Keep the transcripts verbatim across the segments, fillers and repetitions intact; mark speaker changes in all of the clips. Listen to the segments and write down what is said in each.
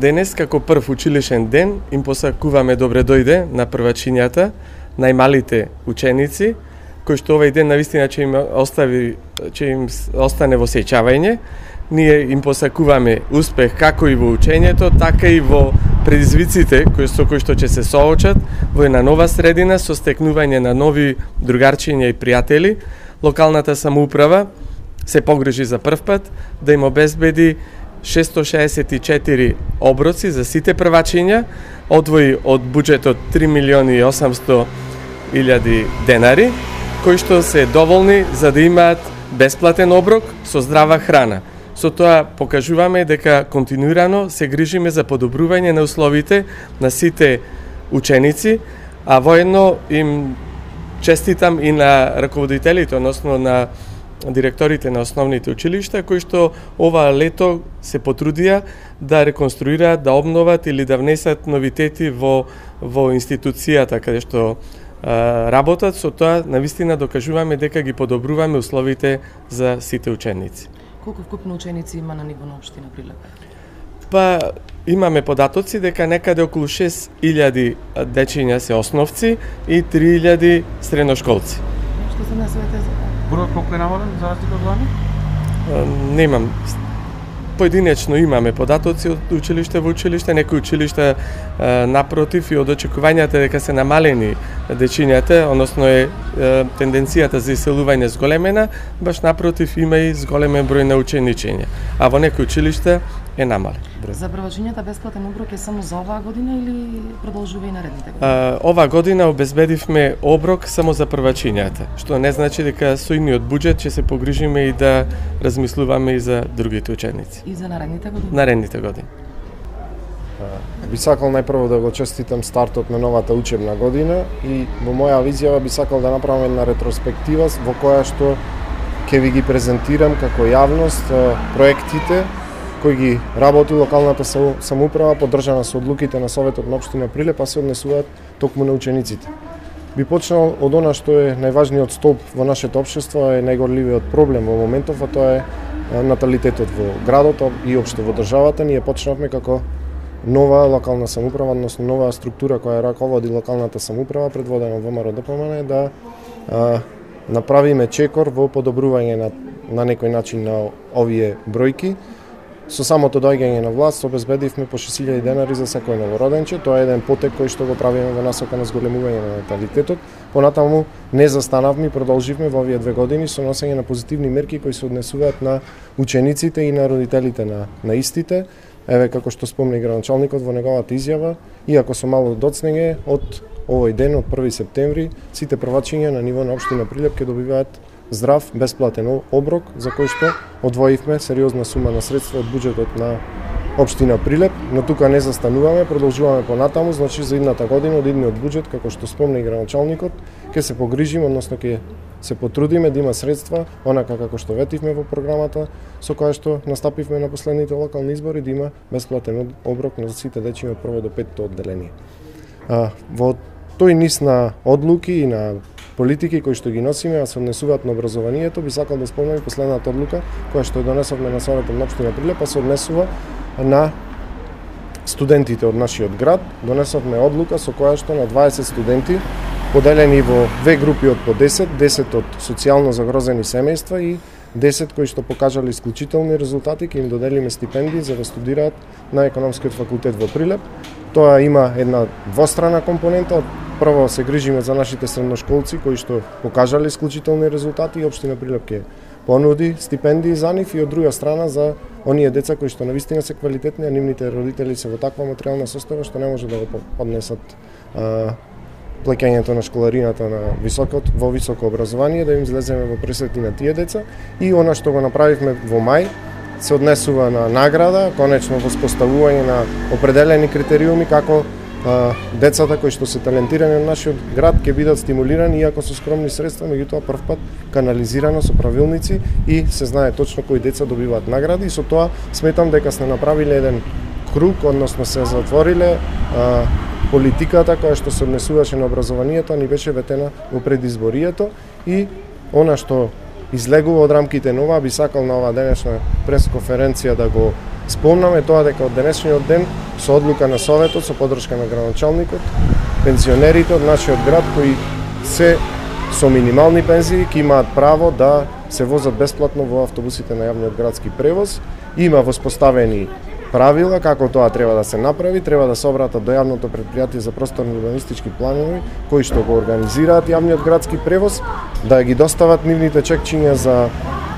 Speaker 1: Денес, како прв училишен ден, им посакуваме добре дојде на првачињата, најмалите ученици, кои што овој ден навистина ќе им остави, ќе им остане во сеќавање. Ние им посакуваме успех како и во учењето, така и во предизвиците кои со кои што ќе се соочат во една нова средина со стекнување на нови другарчиња и пријатели. Локалната самоуправа се погрижи за прв пат да им обезбеди шесто шеесет и четири оброци за сите првачиња, одвои од буџетот три милиони и осамсто илјади денари, кои што се доволни за да имаат бесплатен оброк со здрава храна. Со тоа покажуваме дека континуирано се грижиме за подобрување на условите на сите ученици, а воедно им честитам и на раководителите, односно на директорите на основните училишта, кои што ова лето се потрудија да реконструираат, да обноват или да внесат новитети во, во институцијата каде што а, работат. Со тоа навистина докажуваме дека ги подобруваме условите за сите ученици.
Speaker 2: Колку вкупно ученици има на ниво на општина Прилеп?
Speaker 1: Па имаме податоци дека некаде околу шест илјади дечиња се основци и три илјади средношколци.
Speaker 2: Што се насвете за
Speaker 3: Бројот колку е намален за разлика од лани?
Speaker 1: Немам. Поединечно имаме податоци од училиште во училиште, некои училишта напротив и од очекувањата дека се намалени дечињата, односно е тенденцијата за иселување зголемена, баш напротив има и зголемен број на ученичења, а во некои училишта е намален.
Speaker 2: За првачињата бесплатен оброк е само за оваа година или продолжува и наредните години?
Speaker 1: А, ова година обезбедивме оброк само за првачињата, што не значи дека со идниот буџет ќе се погрижиме и да размислуваме и за другите ученици.
Speaker 2: И за наредните години?
Speaker 1: Наредните години.
Speaker 4: Би сакал најпрво да го честитам стартот на новата учебна година и во моја изјава би сакал да направам една ретроспектива во која што ќе ви ги презентирам како јавност проектите кои ги работи локалната самоуправа, поддржана со одлуките на Советот на општина Прилеп, а се однесуваат токму на учениците. Би почнал од она што е најважниот столб во нашето општество, е најгорливиот проблем во моментов, а тоа е наталитетот во градот и општо во државата. Ние почнавме како нова локална самоуправа, односно нова структура која раководи локалната самоуправа, предводена од ВМРО Д П М Н, да а, направиме чекор во подобрување на, на некој начин на овие бројки. Со самото доаѓање на власт обезбедивме по шест илјади денари за секој новороденче. Тоа е еден потек кој што го правиме во насока на зголемување на наталитетот. Понатаму не застанавме и продолживме во овие две години со носење на позитивни мерки кои се однесуваат на учениците и на родителите на, на истите. Еве, како што спомна и градоначалникот во неговата изјава, иако со мало доцнење, од овој ден, од први септември, сите првачиња на ниво на општина Прилеп ќе добиваат здрав, бесплатен оброк, за кој што одвоивме сериозна сума на средства од буџетот на општина Прилеп, но тука не застануваме, продолжуваме понатаму, значи за идната година од идниот буџет, како што спомна и градоначалникот, ќе се погрижиме, односно ќе се потрудиме да има средства, онака како што ветивме во програмата, со која што настапивме на последните локални избори, да има бесплатен оброк на сите дечиња од прво до петто одделение. А, во тој низ на одлуки и на политики кои што ги носиме, а се однесуваат на образованието, би сакал да спомнам и последната одлука која што донесовме на Советот на општина Прилеп, а се однесува на студентите од нашиот град. Донесовме одлука со која што на дваесет студенти, поделени во две групи од по десет, десет од социјално загрозени семејства и десет кои што покажале исклучителни резултати, ќе им доделиме стипендии за да студираат на Економскиот факултет во Прилеп. Тоа има една двострана компонента. Прво се грижиме за нашите средношколци кои што покажале исклучителни резултати и општина Прилеп ќе понуди стипендии за нив, и од друга страна за оние деца кои што навистина се квалитетни, а нивните родители се во таква материјална состојба што не може да го поднесат а, плеќањето на школарината на високот, во високо образование, да им излеземе во пресети на тие деца. И она што го направивме во мај се однесува на награда, конечно воспоставување на определени критериуми како а, децата кои што се талентирани на нашиот град ќе бидат стимулирани, иако со скромни средства, меѓутоа прв пат канализирано со правилници и се знае точно кои деца добиваат награди. И со тоа сметам дека сме направиле еден круг, односно се затвориле а, политиката која што се однесуваше на образованието, ни беше ветена во предизборието, и она што излегува од рамките на ова, би сакал на оваа денешна пресконференција да го спомнаме, тоа дека од денешниот ден со одлука на Советот, со поддршка на градоначалникот, пензионерите од нашиот град кои се со минимални пензии ќе имаат право да се возат бесплатно во автобусите на јавниот градски превоз. Има воспоставени правила како тоа треба да се направи, треба да се обратат до јавното претпријатие за просторни урбанистички планови кои што го организираат јавниот градски превоз, да ги достават нивните чекчиња за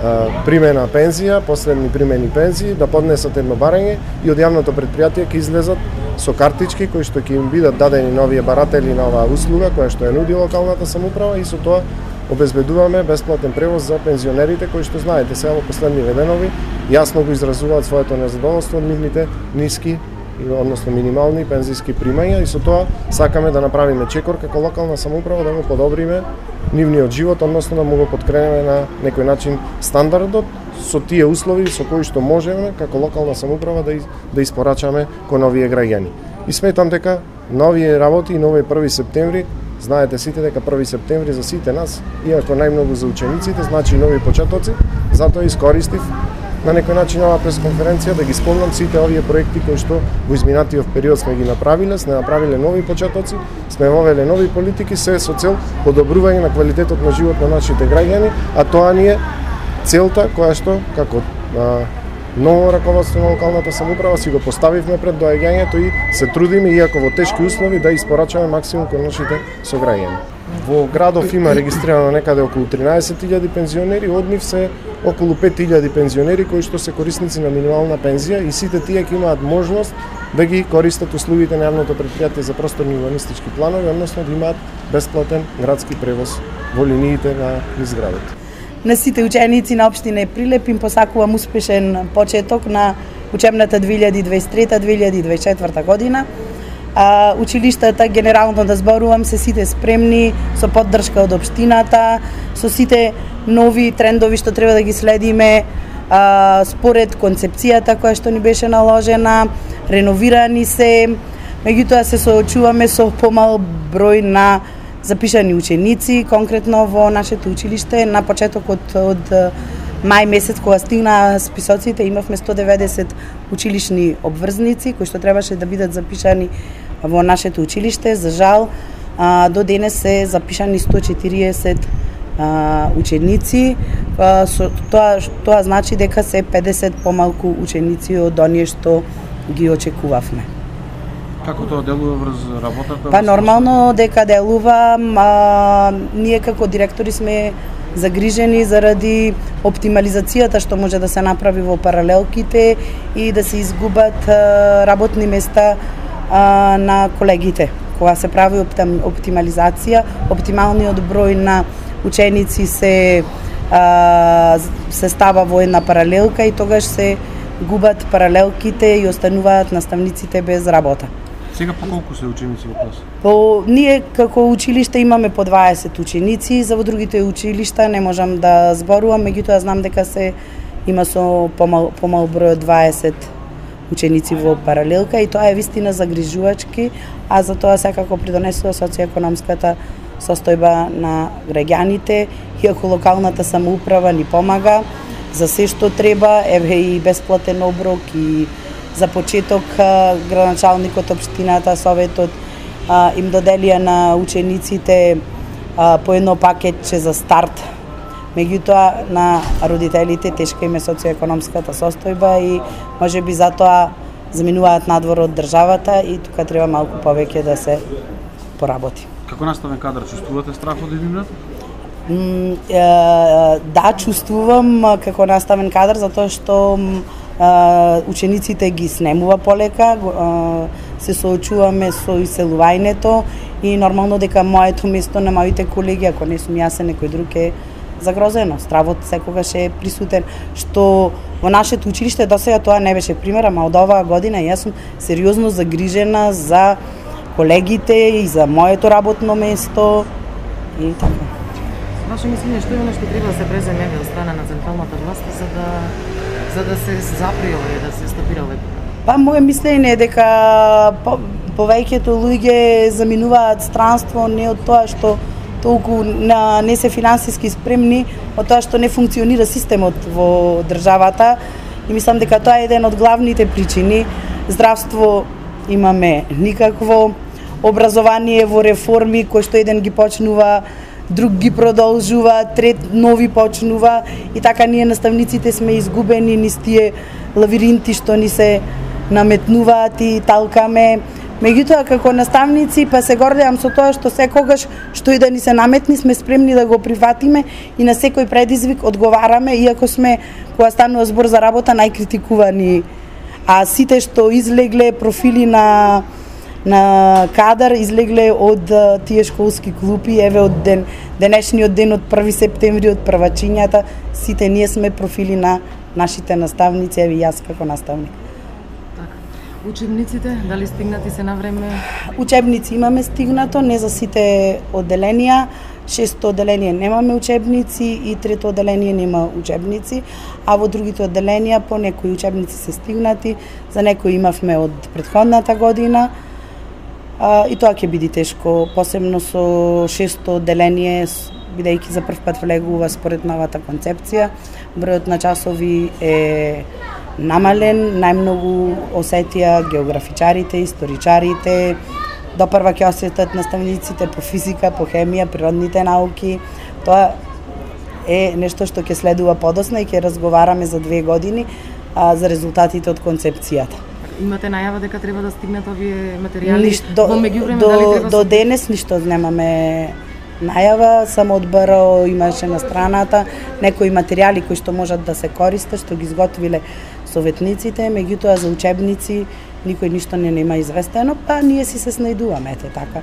Speaker 4: а, примена пензија, последни примени пензии, да поднесат едно барање и од јавното претпријатие ќе излезат со картички кои што ќе им бидат дадени на овие баратели на оваа услуга која што ја нуди локалната самоуправа и со тоа обезбедуваме бесплатен превоз за пензионерите кои што знаете сега во последниве денови јасно го изразуваат своето незадоволство од нивните ниски односно минимални пензиски примања и со тоа сакаме да направиме чекор како локална самоуправа да го подобриме нивниот живот, односно да му го подкренеме на некој начин стандардот со тие услови со кои што можеме како локална самоуправа да да испорачаме кон овие граѓани. И сметам дека на овие работи и на овој први септември, знаете сите дека први септември за сите нас, иако најмногу за учениците, значи нови почетоци, затоа искористив на некој начин оваа пресконференција да ги спомнам сите овие проекти кои што во изминатиот период сме ги направиле, сме направиле нови почетоци, сме вовеле нови политики, се со цел подобрување на квалитетот на живот на нашите граѓани, а тоа ни е целта која што како а, ново раководство на локалната самоуправа си го поставивме пред доаѓањето и се трудиме иако во тешки услови да испорачаме максимум кон нашите сограѓани. Во градов има регистрирано некаде околу тринаесет илјади пензионери, од нив се околу пет илјади пензионери кои што се корисници на минимална пензија и сите тие ќе имаат можност да ги користат услугите на јавното претпријатие за просторни урбанистички планови, односно да имаат бесплатен градски превоз во линиите на низ градот.
Speaker 5: На сите ученици на општина Прилеп им посакувам успешен почеток на учебната две илјади дваесет и трета две илјади дваесет и четврта година. А, училиштата, генерално да зборувам, се сите спремни со поддршка од општината, со сите нови трендови што треба да ги следиме, а, според концепцијата која што ни беше наложена, реновирани се, меѓутоа се соочуваме со помал број на запишани ученици, конкретно во нашето училиште на почетокот од мај месец кога стигна списоците имавме сто деветдесет училишни обврзници кои што требаше да бидат запишани во нашето училиште. За жал до денес се запишани сто четириесет ученици. Тоа тоа значи дека се педесет помалку ученици од оние што ги очекувавме.
Speaker 3: Како тоа делува врз работата?
Speaker 5: Па нормално дека делува, а, ние како директори сме загрижени заради оптимализацијата што може да се направи во паралелките и да се изгубат а, работни места а, на колегите. Кога се прави оптимализација, оптималниот број на ученици се а, се става во една паралелка и тогаш се губат паралелките и остануваат наставниците без работа.
Speaker 3: Сега по колку се ученици во клас?
Speaker 5: По ние како училиште имаме по дваесет ученици, за во другите училишта не можам да зборувам, меѓутоа знам дека се има со помал, помал број од дваесет ученици во паралелка и тоа е вистина загрижувачки, а за тоа секако придонесува социјекономската состојба на граѓаните, иако локалната самоуправа ни помага за се што треба, еве и бесплатен оброк и за почеток градоначалникот, општината, советот им доделија на учениците по едно пакетче за старт. Меѓутоа на родителите тешка им е социјекономската состојба и можеби затоа заминуваат надвор од државата и тука треба малку повеќе да се поработи.
Speaker 3: Како наставен кадар чувствувате страх од иднината?
Speaker 5: Да, чувствувам како наставен кадар затоа што учениците ги снемува полека, се соочуваме со иселувањето и нормално дека моето место на моите колеги, ако не сум јас, некој друг е загрозено. Стравот секогаш е присутен, што во нашето училиште досега тоа не беше пример, ама од оваа година јас сум сериозно загрижена за колегите и за моето работно место и така.
Speaker 2: Ваше мислење, што е оно што треба да се преземе од страна на централната власт за да за да се запри овој, да се стопира овој?
Speaker 5: Па моје мислење е дека по, повеќето луѓе заминуваат странство не од тоа што толку на, не се финансиски спремни, од тоа што не функционира системот во државата и мислам дека тоа е еден од главните причини. Здравство имаме никакво образование во реформи, кој што еден ги почнува, друг ги продолжува, трет нови почнува и така ние наставниците сме изгубени низ тие лавиринти што ни се наметнуваат и талкаме. Меѓутоа како наставници па се гордеам со тоа што секогаш што и да ни се наметни сме спремни да го прифатиме и на секој предизвик одговараме, иако сме кога станува збор за работа најкритикувани. А сите што излегле профили на на кадар излегле од тие школски клупи, еве од ден денешниот ден од први септември од првачињата, сите ние сме профили на нашите наставници, еве јас како наставник.
Speaker 2: Учебниците, дали стигнати се на време?
Speaker 5: Учебници имаме стигнато, не за сите одделенија. Шесто одделение немаме учебници и трето одделение нема учебници, а во другите одделенија по некои учебници се стигнати, за некои имавме од претходната година. А, и тоа ќе биде тешко, посебно со шесто одделение, бидејќи за прв пат влегува според новата концепција. Бројот на часови е намален, најмногу осетија географичарите, историчарите, допрва ќе осетат наставниците по физика, по хемија, природните науки. Тоа е нешто што ќе следува подоцна и ќе разговараме за две години а, за резултатите од концепцијата.
Speaker 2: Имате најава дека треба да стигнат овие материјали?
Speaker 5: Ниш, до,
Speaker 2: во меѓувреме,
Speaker 5: до,
Speaker 2: дали треба
Speaker 5: до
Speaker 2: со...
Speaker 5: денес ништо немаме најава, само од БРО имаше на страната некои материјали кои што можат да се користат, што ги изготвиле советниците, меѓутоа за учебници никој ништо не нема известено, па ние си се снајдуваме, ете така.